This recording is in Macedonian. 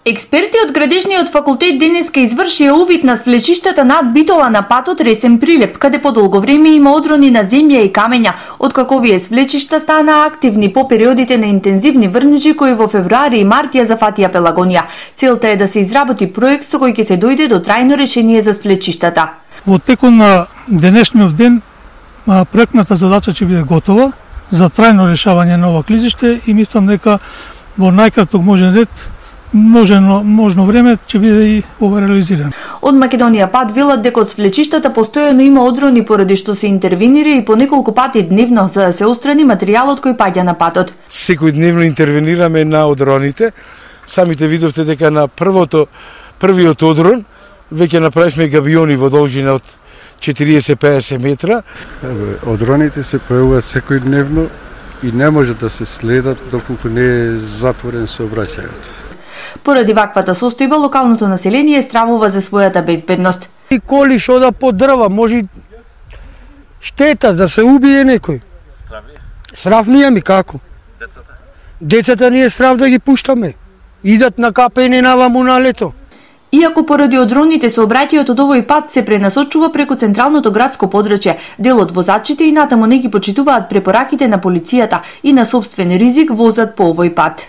Експерти од Градежниот факултет денеска извршија увид на свлечиштата над Битола на патот Ресен Прилеп, каде по долго време има одрони на земја и камења, откако овие свлечишта стана активни по периодите на интензивни врнежи кои во февруари и март ја зафатија Пелагонија. Целта е да се изработи проект со кој ќе се дојде до трајно решение за свлечиштата. Во текот на денешниот ден проектната задача ќе биде готова за трајно решавање на ова клизиште и мислам дека во најкраток можен ред можно време ќе биде и ова реализирано. Од Македонија пат велат дека од свлечиштата постојано има одрони поради што се интервенира и по неколку пати дневно за да се острани материјалот кој паѓа на патот. Секој дневно интервенираме на одроните. Самите видовте дека на првиот одрон веќе направивме габиони во должина од 40-50 метра. Одроните се појавуваат секој дневно и не може да се следат доколку не е затворен сообраќајот. Поради ваквата состојба, локалното население стравува за својата безбедност. И коли што да по дрва, може штета да се убие некој. Страв ние ми како? Децата ние страв да ги пуштаме. Идат на капење наваму на лето. Иако поради одроните сообраќајот од овој пат се пренасочува преку централното градско подрачје, дел од возачите и натаму не ги почитуваат препораките на полицијата и на сопствен ризик возат по овој пат.